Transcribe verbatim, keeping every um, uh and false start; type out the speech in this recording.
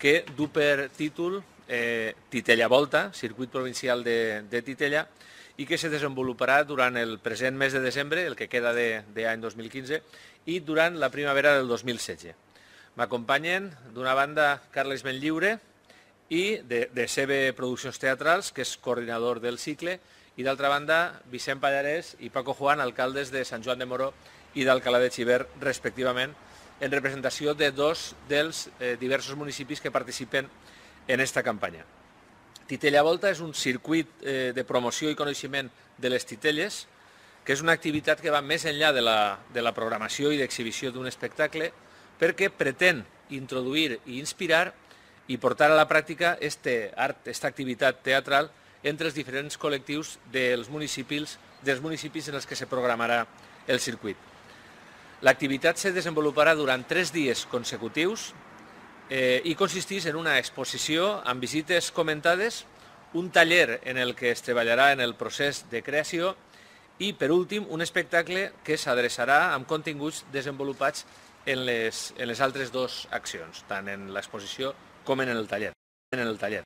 que du per títol eh, Titella Volta, circuit provincial de, de Titella, i que se desenvoluparà durant el present mes de desembre, el que queda d'any dos mil quinze, i durant la primavera del dos mil setze. M'acompanyen, d'una banda, Carles Benlliure, i de, de C B Produccions Teatrals, que és coordinador del cicle, i d'altra banda, Vicent Pallarès i Paco Juan, alcaldes de Sant Joan de Moró i d'Alcalá de Xivert, respectivament, en representació de dos dels eh, diversos municipis que participen en aquesta campanya. Titella Volta és un circuit eh, de promoció i coneixement de les titelles, que és una activitat que va més enllà de la, de la programació i d'exhibició d'un espectacle, perquè pretén introduir i inspirar i portar a la pràctica este art, aquesta activitat teatral entre els diferents col·lectius dels municipis, dels municipis en els que se programarà el circuit. L'activitat se desenvoluparà durant tres dies consecutius eh, i consisteix en una exposició amb visites comentades, un taller en el que es treballarà en el procés de creació i, per últim, un espectacle que s'adreçarà amb continguts desenvolupats en les, en les altres dues accions, tant en l'exposició com en el taller. En el taller.